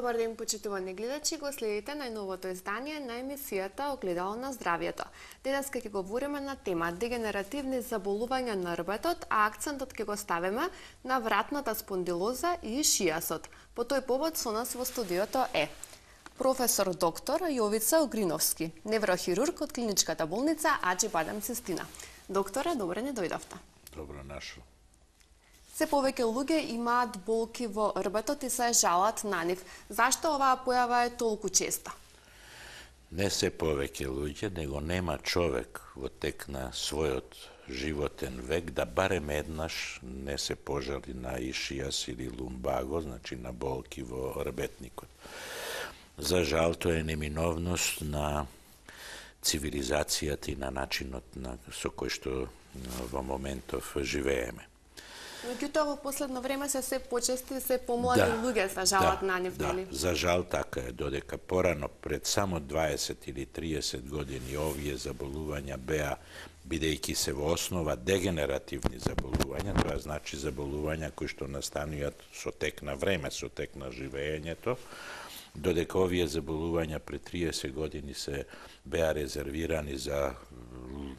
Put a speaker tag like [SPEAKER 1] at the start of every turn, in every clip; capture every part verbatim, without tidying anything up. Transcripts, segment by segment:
[SPEAKER 1] Добар ден, почитувани гледачи, го следите најновото издание на емисијата Огледало на здравјето. Денес ќе говориме на тема дегенеративни заболувања на рбетот, а акцентот ќе го ставиме на вратната спондилоза и ишијасот. По тој повод со нас во студиото е професор доктор Јовица Огриновски, неврохирург од клиничката болница Аџи-Бадем Цистина. Докторе, добре не дојдовте.
[SPEAKER 2] Добро нашо.
[SPEAKER 1] Се повеќе луѓе имаат болки во рбетот и се жалат на нив. Зашто оваа појава е толку честа?
[SPEAKER 2] Не се повеќе луѓе, него нема човек во тек на својот животен век да барем еднаш не се пожали на ишијас или лумбаго, значи на болки во рбетникот. За жал, тоа е неминовност на цивилизацијата и на начинот на со кој што во моментов живееме.
[SPEAKER 1] Меѓутоа, во последно време се се почести, се помлади
[SPEAKER 2] да,
[SPEAKER 1] луѓе се жалат
[SPEAKER 2] да,
[SPEAKER 1] на нив,
[SPEAKER 2] да,
[SPEAKER 1] нели?
[SPEAKER 2] За жал така е, додека порано пред само дваесет или триесет години овие заболувања беа, бидејќи се во основа дегенеративни заболувања, тоа значи заболувања кои што настануваат со тек на време, со тек на живеењето, додека овие заболувања пред триесет години се беа резервирани за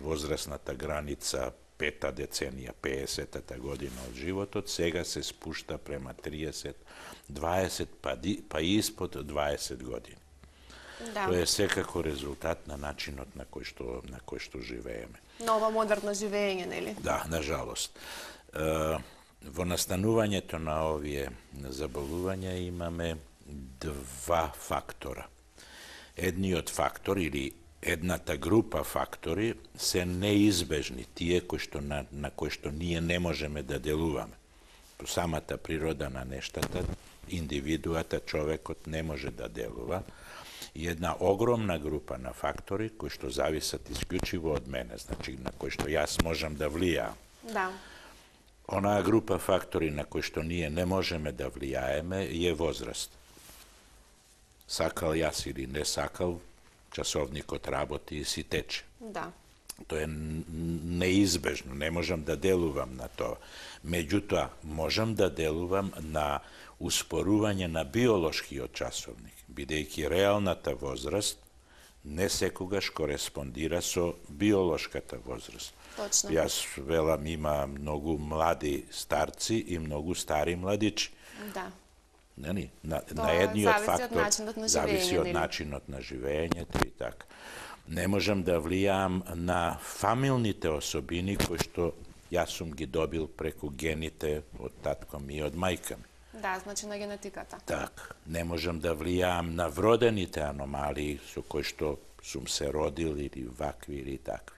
[SPEAKER 2] возрастната граница пета деценија, пеесетата година од животот, сега се спушта према триесет, дваесет, па, ди, па испод дваесет години.
[SPEAKER 1] Да.
[SPEAKER 2] Тоа е секако резултат на начинот на кој што на кој што живееме.
[SPEAKER 1] Нова модерно живење, нели?
[SPEAKER 2] Да, на жалост. Е, во настанувањето на овие заболувања имаме два фактора. Едниот фактор или едната група фактори се неизбежни, тие кои што на, на кои што ние не можеме да делуваме. По самата природа на нештата, индивидуата, човекот не може да делува. И една огромна група на фактори кои што зависат исклучиво од мене, значи на кои што јас можам да влијаам.
[SPEAKER 1] Да.
[SPEAKER 2] Онаа група фактори на кои што ние не можеме да влијаеме е возраст. Сакал јас или не сакал, часовникот работи и си тече.
[SPEAKER 1] Да.
[SPEAKER 2] Тоа е неизбежно, не можам да делувам на тоа. Меѓутоа, можам да делувам на успорување на биолошкиот часовник, бидејќи реалната возраст не секогаш кореспондира со биолошката возраст.
[SPEAKER 1] Точно.
[SPEAKER 2] Јас велам, има многу млади старци и многу стари младичи.
[SPEAKER 1] Да.
[SPEAKER 2] Нели? На,
[SPEAKER 1] Тоа
[SPEAKER 2] на едниот фактор
[SPEAKER 1] од
[SPEAKER 2] зависи од
[SPEAKER 1] нели?
[SPEAKER 2] начинот на живеењето и така. Не можам да влијам на фамилните особини кои што јас сум ги добил преку гените од татко ми и од мајка ми.
[SPEAKER 1] Да, значи на генетиката.
[SPEAKER 2] Так, не можам да влијам на вродените аномалии со кои што сум се родил или вакви или такви.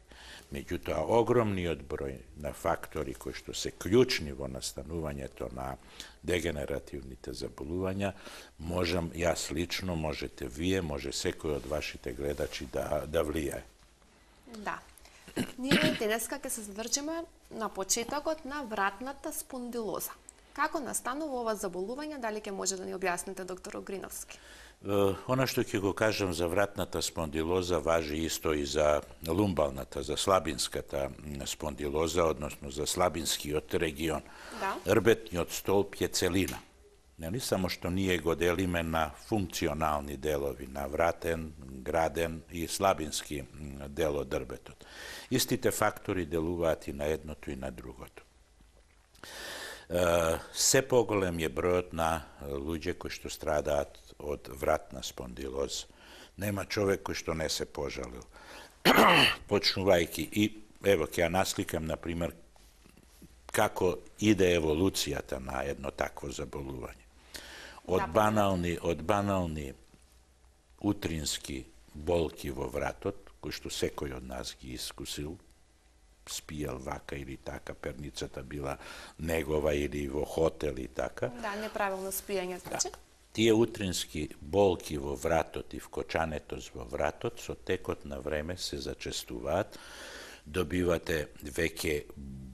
[SPEAKER 2] Меѓутоа, огромниот број на фактори кои што се клучни во настанувањето на дегенеративните заболувања, можам јас лично, можете вие, може секој од вашите гледачи да, да влијае.
[SPEAKER 1] Да. Ние денеска ќе се задржиме на почетокот на вратната спондилоза. Како настанува ова заболување, дали ќе може да ни објасните, доктор Огриновски?
[SPEAKER 2] Она што ќе го кажам за вратната спондилоза важи исто и за лумбалната, за слабинската спондилоза, односно за слабинскиот регион.
[SPEAKER 1] Да.
[SPEAKER 2] Рбетниот столб е целина. Нели? Само што ние го делиме на функционални делови, на вратен, граден и слабински дел од рбетот. Истите фактори делуваат и на едното и на другото. Се поголем е бројот на луѓе кои што страдаат од вратна спондилоза. Нема човек кој што не се пожалил. Почнувајќи и, ево, ќе ја насликам, например, како иде еволуцијата на едно такво заболување. Од банални, од банални утрински болки во вратот, кои што секој од нас ги искусил, спијал вака или така, перницата била негова или во хотел и така.
[SPEAKER 1] Да, неправилно спијање, значи.
[SPEAKER 2] Да. Тие утрински болки во вратот и вкочането во вратот со текот на време се зачестуваат. Добивате веќе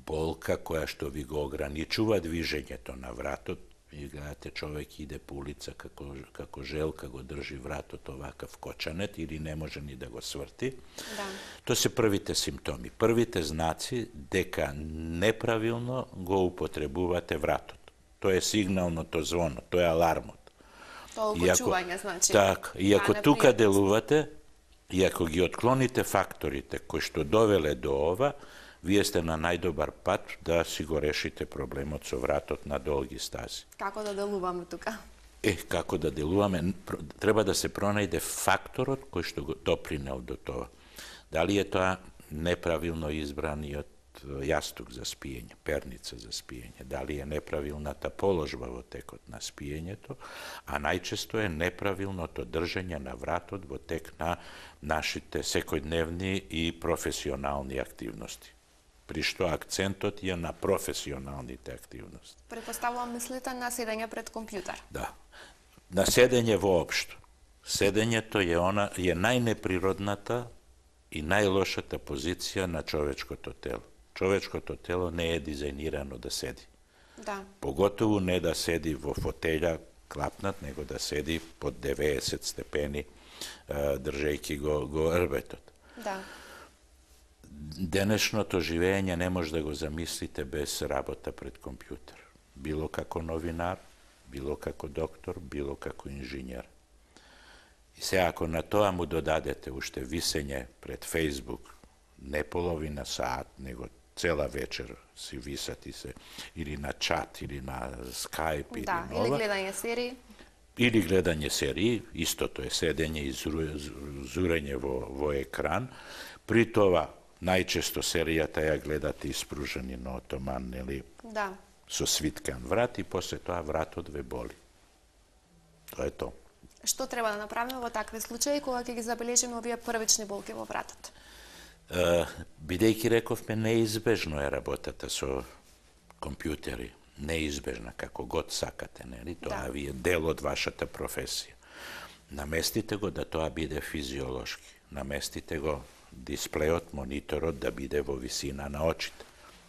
[SPEAKER 2] болка која што ви го ограничува движењето на вратот. И гледате, човек иде по улица како, како желка, го држи вратот овакав кочанет или не може ни да го сврти.
[SPEAKER 1] Да.
[SPEAKER 2] Тоа се првите симптоми, првите знаци дека неправилно го употребувате вратот. Тоа е сигналното звоно, тоа е алармот.
[SPEAKER 1] Толку чување, значи.
[SPEAKER 2] Так, и ако
[SPEAKER 1] а,
[SPEAKER 2] тука делувате, и ако ги отклоните факторите кои што довеле до ова, вие сте на најдобар пат да си го решите проблемот со вратот на долги стази.
[SPEAKER 1] Како да делуваме тука?
[SPEAKER 2] Е, како да делуваме? Треба да се пронајде факторот кој што го допринел до тоа. Дали е тоа неправилно избраниот јастук за спиење, перница за спиење, дали е неправилната положба во текот на спиењето, а најчесто е неправилното држење на вратот во тек на нашите секојдневни и професионални активности. При што акцентот е на професионалните активности.
[SPEAKER 1] Предпоставувам мислите на седење пред компјутер.
[SPEAKER 2] Да. На седење воопшто. Седењето е она е најнеприродната и најлошата позиција на човечкото тело. Човечкото тело не е дизајнирано да седи.
[SPEAKER 1] Да.
[SPEAKER 2] Поготово не да седи во фотеља клапнат, него да седи под деветдесет степени, држејќи го, го рбетот.
[SPEAKER 1] Да.
[SPEAKER 2] Денешното живење не може да го замислите без работа пред компјутер. Било како новинар, било како доктор, било како инженер. И сега, ако на тоа му додадете уште висење пред Фейсбук, не половина саат, него цела вечер си висати се, или на чат, или на скайп, или
[SPEAKER 1] да,
[SPEAKER 2] нова.
[SPEAKER 1] или гледање серии.
[SPEAKER 2] Или гледање серии, истото е седење и зурење во, во екран. При тоа, најчесто серијата ја гледате испружени на отоман, нели,
[SPEAKER 1] да.
[SPEAKER 2] со свиткан врат и после тоа вратот ве боли. Тоа е тоа.
[SPEAKER 1] Што треба да направиме во такви случаи кога ќе ги забележиме овие првични болки во вратот?
[SPEAKER 2] Uh, бидејќи рековме, неизбежно е работата со компјутери, неизбежна, како год сакате, нели? Тоа
[SPEAKER 1] да.
[SPEAKER 2] ви е дел од вашата професија. Наместите го да тоа биде физиолошки. Наместите го дисплеот, мониторот да биде во висина на очите.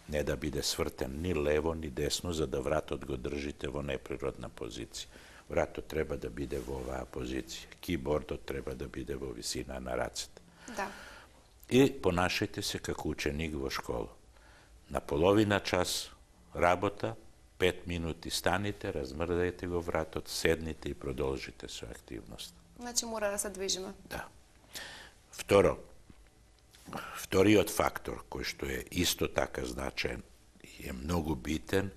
[SPEAKER 2] Не да биде свртен ни лево, ни десно, за да вратот го држите во неприродна позиција. Вратот треба да биде во оваа позиција. Кибордот треба да биде во висина на рацете.
[SPEAKER 1] Да.
[SPEAKER 2] И понашајте се како ученик во школа. На половина час работа, пет минути станите, размрдајте го вратот, седните и продолжите со активност.
[SPEAKER 1] Значи мора да се движиме.
[SPEAKER 2] Да. Второ, вториот фактор кој што е исто така значаен и е многу битен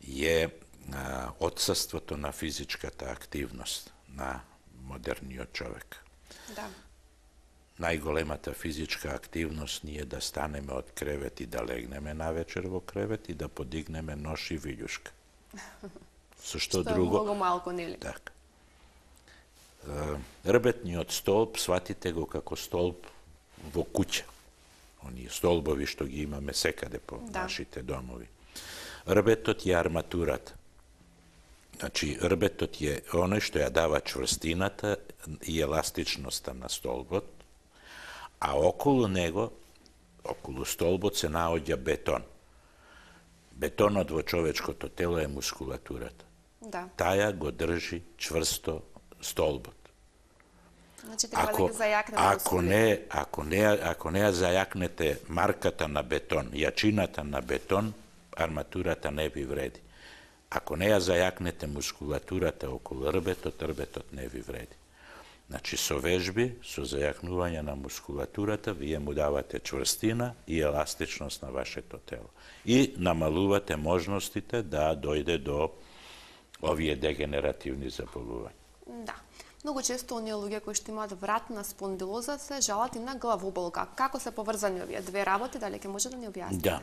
[SPEAKER 2] е а, отсуството на физичката активност на модерниот човек.
[SPEAKER 1] Да.
[SPEAKER 2] Најголемата физичка активност ние да станеме од кревет и да легнеме навечер во кревет и да подигнеме нош и вилјушка. Со што, што друго?
[SPEAKER 1] Што е многу малку, нели?
[SPEAKER 2] Така. Рбетниот столб, сватите го како столб во куќа. Оние столбови што ги имаме секаде по да. нашите домови. Рбетот е арматурата. Значи, рбетот е оној што ја дава чврстината и еластичноста на столбот, а околу него, околу столбот се наоѓа бетон. Бетонот во човечкото тело е мускулатурата.
[SPEAKER 1] Да.
[SPEAKER 2] Таја го држи чврсто столбот.
[SPEAKER 1] Значи треба
[SPEAKER 2] ако,
[SPEAKER 1] да ги зајакнеме.
[SPEAKER 2] Ако не, ако не, ако не ја зајакнете марката на бетон, јачината на бетон, арматурата не ви вреди. Ако не ја зајакнете мускулатурата околу рбетот, рбетот не ви вреди. Значи, со вежби, со зајакнување на мускулатурата, вие му давате чврстина и еластичност на вашето тело. И намалувате можностите да дојде до овие дегенеративни заболувања.
[SPEAKER 1] Да. Многу често оние луѓе кои што имаат вратна спондилоза се жалат и на главоболка. Како се поврзани овие две работи, дали ќе може да ни објасните?
[SPEAKER 2] Да.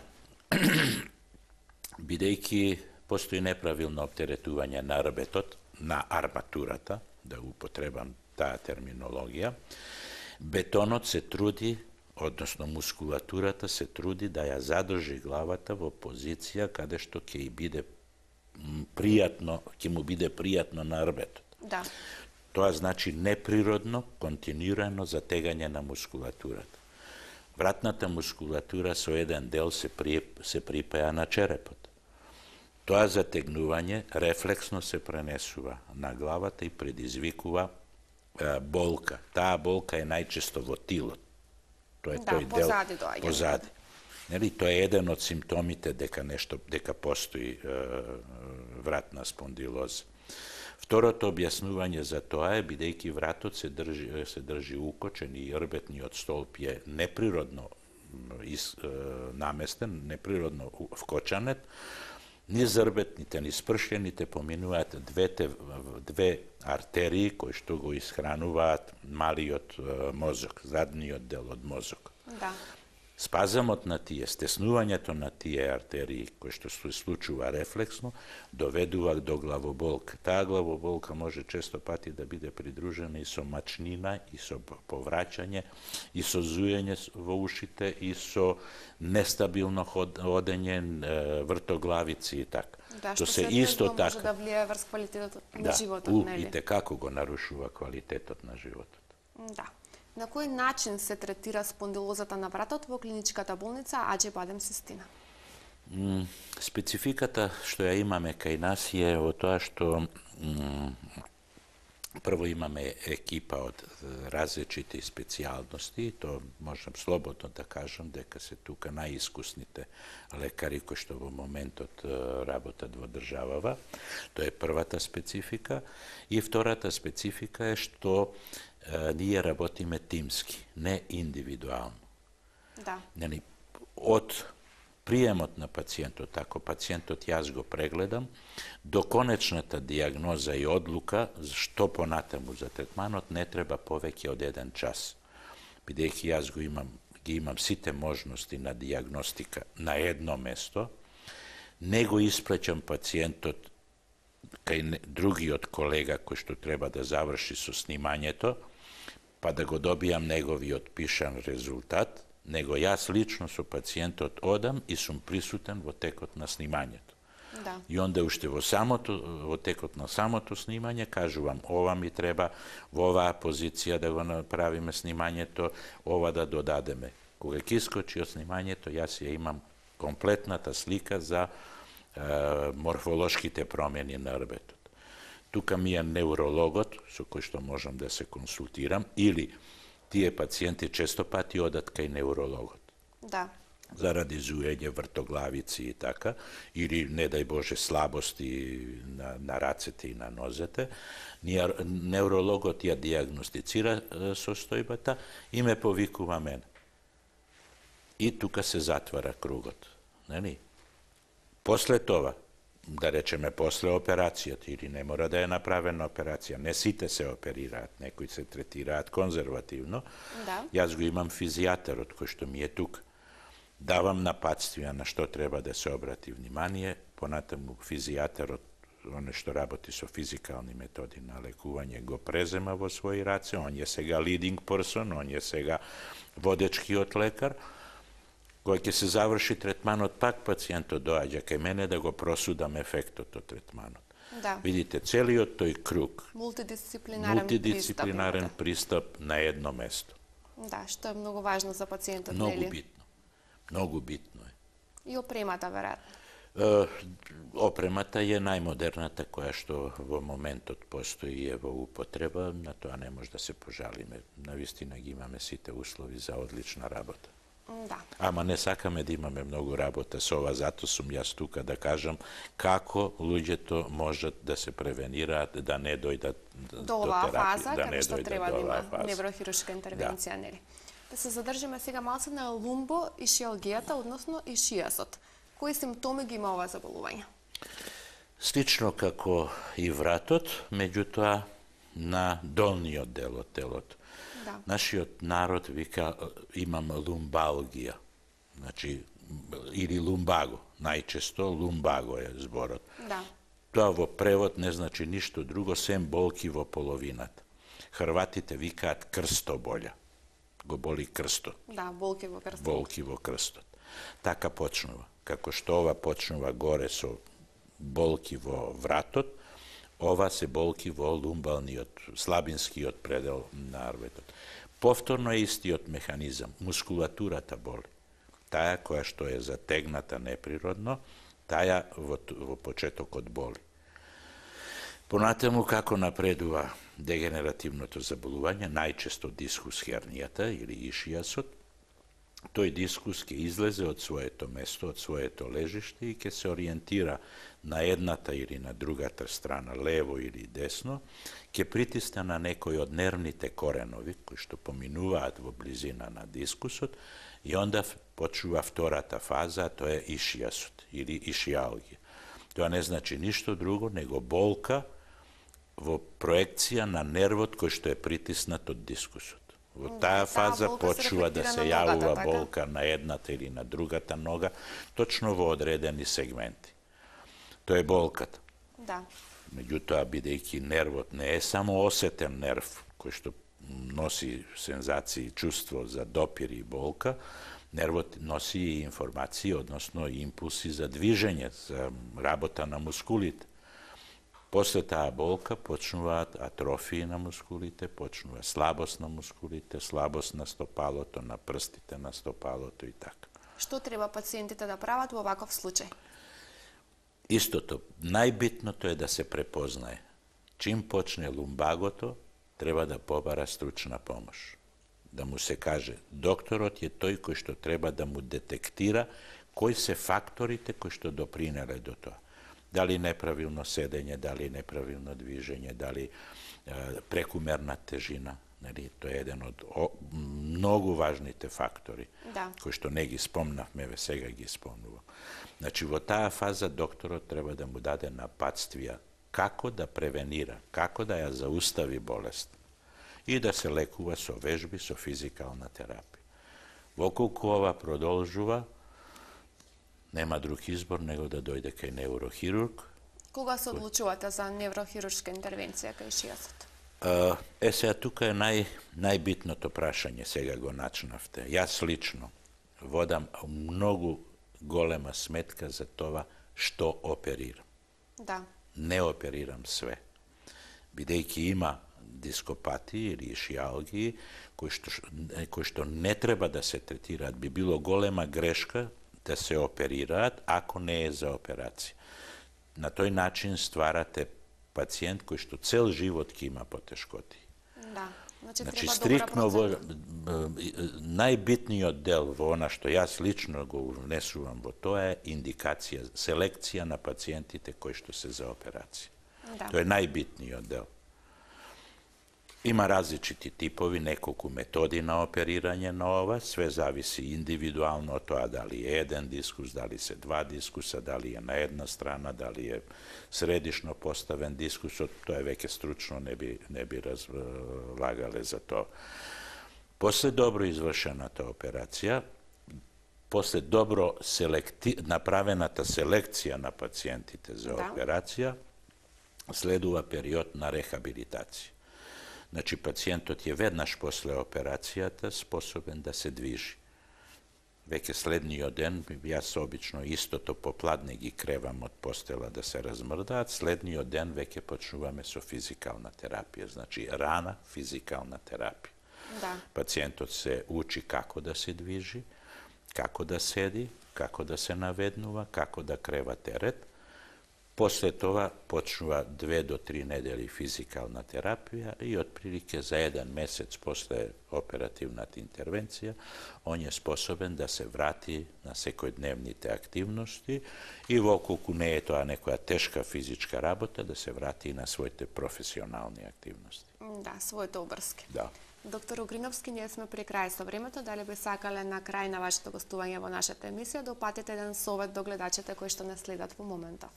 [SPEAKER 2] Бидејќи постои неправилно оптеретување на рбетот, на арматурата, да употребам таа терминологија, бетонот се труди, односно мускулатурата се труди да ја задржи главата во позиција каде што ќе биде пријатно, ќе му биде пријатно на рбетот.
[SPEAKER 1] Да.
[SPEAKER 2] Тоа значи неприродно, континуирано затегање на мускулатурата. Вратната мускулатура со еден дел се, при, се припаја на черепот. Тоа затегнување рефлексно се пренесува на главата и предизвикува е, болка. Таа болка е најчесто во тилот. Тоа е
[SPEAKER 1] да,
[SPEAKER 2] тој
[SPEAKER 1] позади
[SPEAKER 2] дел
[SPEAKER 1] доаѓа.
[SPEAKER 2] позади. Нели, тоа е еден од симптомите дека нешто дека постои е, вратна спондилоза. Второто објаснување за тоа е, бидејќи вратот се држи, се држи укочен и рбетниот столб е неприродно из, е, наместен, неприродно вкочанет, низ рбетните, низ пршљените поминуваат двете, две артерии кои што го исхрануваат малиот е, мозок, задниот дел од мозок.
[SPEAKER 1] Да.
[SPEAKER 2] Спазамот на тие, стеснувањето на тие артерии, кои што се случува рефлексно, доведува до главоболка. Таа главоболка може често пати да биде придружена и со мачнина, и со повраќање, и со зуење во ушите, и со нестабилно одење, вртоглавици и така.
[SPEAKER 1] Да, што
[SPEAKER 2] се
[SPEAKER 1] се
[SPEAKER 2] исто
[SPEAKER 1] може
[SPEAKER 2] така
[SPEAKER 1] да влијае врз квалитетот на
[SPEAKER 2] да,
[SPEAKER 1] животот,
[SPEAKER 2] у,
[SPEAKER 1] нели?
[SPEAKER 2] и те како го нарушува квалитетот на животот.
[SPEAKER 1] Да. На кој начин се третира спондилозата на вратот во клиничката болница Аџи Бадем Систина?
[SPEAKER 2] М, спецификата што ја имаме кај нас е во тоа што м, прво имаме екипа од различити специјалности, то можам слободно да кажам дека се тука најискусните лекари кои што во моментот работат во државава. Тоа е првата специфика. И втората специфика е што е, ние работиме тимски, не индивидуално.
[SPEAKER 1] Да.
[SPEAKER 2] Нели, од приемот на пациентот, ако пациентот јас го прегледам, до конечната дијагноза и одлука што понатаму за третманот не треба повеќе од еден час. Бидејќи јас го имам, ги имам сите можности на дијагностика на едно место, не го исплеќам пациентот кај другиот колега кој што треба да заврши со снимањето, па да го добијам неговиот пишан резултат, него јас лично со пациентот одам и сум присутен во текот на снимањето.
[SPEAKER 1] Да.
[SPEAKER 2] И онда уште во самото во текот на самото снимање кажувам ова ми треба во оваа позиција да го направиме снимањето, ова да додадеме. Кога ќе искочи од снимањето, јас ја имам комплетната слика за е, морфолошките промени на рбетот. Тука ми е неврологот со кој што можам да се консултирам или тие пациенти често пати одат кај неврологот.
[SPEAKER 1] Да.
[SPEAKER 2] Заради зуење, вртоглавици и така, или, не дај Боже, слабости на, на рацете и на нозете. Неврологот ја диагностицира состојбата и ме повикува мене. И тука се затвара кругот. Нели? После това, да речеме после операцијата, или не мора да е направена операција, не сите се оперираат, некои се третираат конзервативно.
[SPEAKER 1] Да.
[SPEAKER 2] Јас го имам физијатерот кој што ми е тука. Давам напатствија на што треба да се обрати внимание, понатаму физијатерот, оне што работи со физикални методи на лекување, го презема во своји раце, он е сега leading person, он е сега водечкиот лекар. Кога ќе се заврши третманот, пак пациентот доаѓа кај мене да го просудам ефектот од третманот.
[SPEAKER 1] Да.
[SPEAKER 2] Видите, целиот тој круг,
[SPEAKER 1] Мултидисциплинарен,
[SPEAKER 2] мултидисциплинарен
[SPEAKER 1] пристап.
[SPEAKER 2] пристап на едно место.
[SPEAKER 1] Да, што е многу важно за пациентот,
[SPEAKER 2] Многу
[SPEAKER 1] нели?
[SPEAKER 2] битно. Многу битно е.
[SPEAKER 1] И опремата, веројатно.
[SPEAKER 2] Е, опремата е најмодерната која што во моментот постои и е во употреба, на тоа не може да се пожалиме. Навистина ги имаме сите услови за одлична работа.
[SPEAKER 1] Да.
[SPEAKER 2] Ама не сакаме да имаме многу работа со ова, зато сум јас тука да кажам како луѓето можат да се превенираат, да не дојдат
[SPEAKER 1] До
[SPEAKER 2] до
[SPEAKER 1] оваа
[SPEAKER 2] терапија,
[SPEAKER 1] фаза,
[SPEAKER 2] да
[SPEAKER 1] каде
[SPEAKER 2] не
[SPEAKER 1] што
[SPEAKER 2] дојдат
[SPEAKER 1] треба
[SPEAKER 2] до
[SPEAKER 1] да
[SPEAKER 2] оваа
[SPEAKER 1] има
[SPEAKER 2] фаза.
[SPEAKER 1] неврохирушка интервенција, нели? Да се задржиме сега малце на лумбо и шијалгијата, односно и шијасот. Кои симптоми ги има ова заболување?
[SPEAKER 2] Слично како и вратот, меѓутоа на долниот дел од телото.
[SPEAKER 1] Да.
[SPEAKER 2] Нашиот народ вика имам лумбалгија, значи или лумбаго, најчесто лумбаго е зборот.
[SPEAKER 1] Да.
[SPEAKER 2] Тоа во превод не значи ништо друго, сем болки во половината. Хрватите викаат крстоболја, го боли крстот.
[SPEAKER 1] Да, болки во крстот.
[SPEAKER 2] Болки во крстот. Така почнува. Како што ова почнува горе со болки во вратот, ова се болки во лумбалниот, слабинскиот предел на рбетот. Повторно е истиот механизам. Мускулатурата боли. Таја која што е затегната неприродно, таја во, во почетокот боли. Понатаму како напредува дегенеративното заболување, најчесто дискус хернијата или ишијасот, тој дискус ќе излезе од своето место, од своето лежиште и ќе се ориентира на едната или на другата страна, лево или десно, ќе притисне на некој од нервните коренови, кои што поминуваат во близина на дискусот, и онда почува втората фаза, тоа е ишијасот или ишијалгија. Тоа не значи ништо друго, него болка во проекција на нервот кој што е притиснат од дискусот. Во таа фаза почува да се јавува болка на едната или на другата нога, точно во одредени сегменти. Тоа е болката.
[SPEAKER 1] Да.
[SPEAKER 2] Меѓутоа, бидејќи нервот не е само осетен нерв, кој што носи сензации и чувство за допир и болка, нервот носи и информации, односно импулси за движење, за работа на мускулите. После таа болка почнуваат атрофии на мускулите, почнува слабост на мускулите, слабост на стопалото, на прстите на стопалото и така.
[SPEAKER 1] Што треба пациентите да прават во ваков случај?
[SPEAKER 2] Истото, најбитното е да се препознае. Чим почне лумбагото, треба да побара стручна помош. Да му се каже, докторот е тој кој што треба да му детектира кои се факторите кои што допринеле до тоа. Дали неправилно седење, дали неправилно движење, дали е, прекумерна тежина. Нели, тоа е еден од о, многу важните фактори,
[SPEAKER 1] да,
[SPEAKER 2] кои што не ги спомнавме, ве сега ги спомнувам. Значи, во таа фаза докторот треба да му даде напатствија како да превенира, како да ја заустави болест и да се лекува со вежби, со физикална терапија. Воколку ова продолжува, нема друг избор него да дојде кај неврохирург.
[SPEAKER 1] Кога се одлучувате за неврохируршка интервенција кај ишијасот?
[SPEAKER 2] Е, сега тука е нај, најбитното прашање, сега го начнавте. Јас лично водам многу голема сметка за тоа што оперирам.
[SPEAKER 1] Да.
[SPEAKER 2] Не оперирам све. Бидејќи има дископатии или ишијалгии кои што, кои што не треба да се третираат, би било голема грешка да се оперираат ако не е за операција. На тој начин стварате пациент кој што цел живот ќе има потешкоти.
[SPEAKER 1] Да. Значи,
[SPEAKER 2] значи
[SPEAKER 1] треба
[SPEAKER 2] стрикно во
[SPEAKER 1] добра
[SPEAKER 2] најбитниот дел во она што јас лично го внесувам во тоа е индикација, селекција на пациентите кои што се за операција.
[SPEAKER 1] Да.
[SPEAKER 2] Тоа е најбитниот дел. Има различити типови, неколку методи на оперирање на ова, све зависи индивидуално од тоа дали е еден дискус, дали се два дискуса, дали е на една страна, дали е средишно поставен дискусот, тоа е веќе стручно, не би, не би разлагале за тоа. После добро извршената операција, после добро селекти... направената селекција на пациентите за
[SPEAKER 1] Да.
[SPEAKER 2] операција, следува период на рехабилитација. Значи, пациентот е веднаш после операцијата способен да се движи. Веќе следниот ден, јас обично истото попладне ги кревам од постела да се размрдаат, следниот ден веќе почнуваме со физикална терапија, значи рана физикална терапија.
[SPEAKER 1] Да.
[SPEAKER 2] Пациентот се учи како да се движи, како да седи, како да се наведнува, како да крева терет. После тоа почнува две до три недели физикална терапија и отприлике за еден месец после оперативната интервенција он е способен да се врати на секојдневните активности и воколку не е тоа некоја тешка физичка работа да се врати и на своите професионални активности.
[SPEAKER 1] Да, своите обврски.
[SPEAKER 2] Да.
[SPEAKER 1] Доктор Угриновски, ние сме при крај со времето. Дали би сакале на крај на вашето гостување во нашата емисија да упатите еден совет до гледачите кои што не следат во моментов?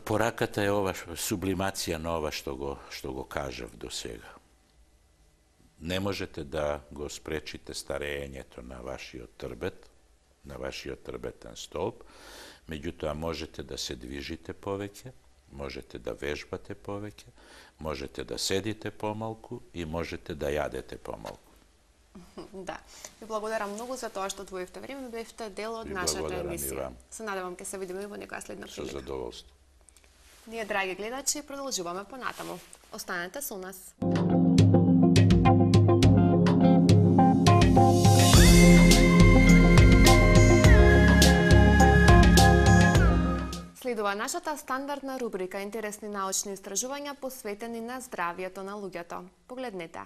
[SPEAKER 2] Пораката е ова сублимација на ова што го што го кажав до сега. Не можете да го спречите старењето на вашиот трбет, на вашиот трбетен столб, меѓутоа можете да се движите повеќе, можете да вежбате повеќе, можете да седите помалку и можете да јадете помалку.
[SPEAKER 1] Да. Ви благодарам многу за тоа што одвоивте време, бевте дел од
[SPEAKER 2] Ви
[SPEAKER 1] нашата
[SPEAKER 2] благодарам и
[SPEAKER 1] емисија.
[SPEAKER 2] вам.
[SPEAKER 1] Се надевам ќе се видиме во некоја следна
[SPEAKER 2] Со
[SPEAKER 1] прилика.
[SPEAKER 2] задоволство.
[SPEAKER 1] Ние, драги гледачи, продолжуваме понатаму. Останете со нас. Следува нашата стандардна рубрика интересни научни истражувања посветени на здравието на луѓето. Погледнете.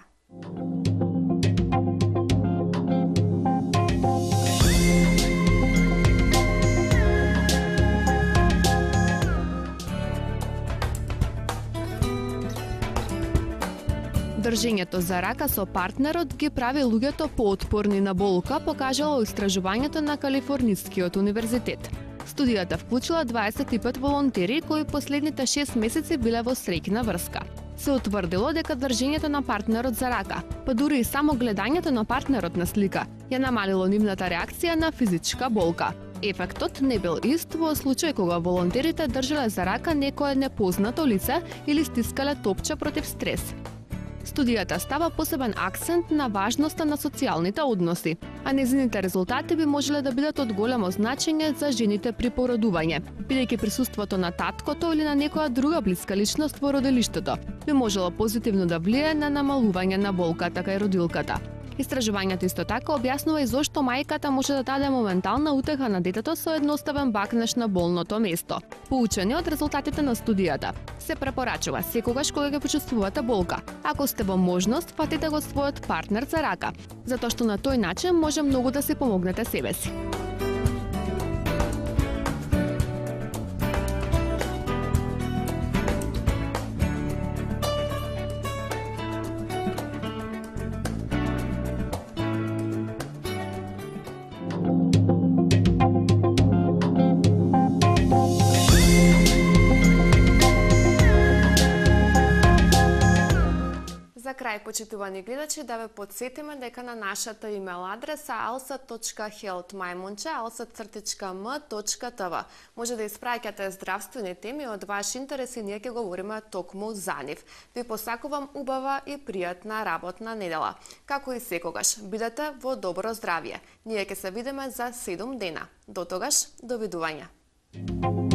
[SPEAKER 1] Држењето за рака со партнерот ги прави луѓето поотпорни на болка, покажало истражувањето на Калифорнискиот универзитет. Студијата вклучила дваесет и пет волонтери кои последните шест месеци биле во среќна врска. Се утврдило дека држењето на партнерот за рака, па дури и само гледањето на партнерот на слика, ја намалило нивната реакција на физичка болка. Ефектот не бил ист во случај кога волонтерите држале за рака некое непознато лице или стискале топче против стрес. Студијата става посебен акцент на важноста на социјалните односи, а незините резултати би можеле да бидат од големо значење за жените при породување, бидејќи присуството на таткото или на некоја друга блиска личност во родилиштето би можело позитивно да влие на намалување на болката кај родилката. Истражувањето исто така објаснува и зошто мајката може да даде моментална утеха на детето со едноставен бакнеш на болното место. Поучени од резултатите на студијата, се препорачува секогаш кога ќе почувствувате болка, ако сте во можност, фатите го својот партнер за рака, затоа што на тој начин може многу да си помогнете себеси. За крај, почитувани гледачи, да ве подсетиме дека на нашата имейл адреса alsa точка health maјмунче alsa цртичка m точка t v може да испраќате здравствени теми од ваш интерес и ние ќе говориме токму за нив. Ви посакувам убава и пријатна работна недела. Како и секогаш, бидете во добро здравје. Ние ќе се видиме за седум дена. До тогаш, довидување.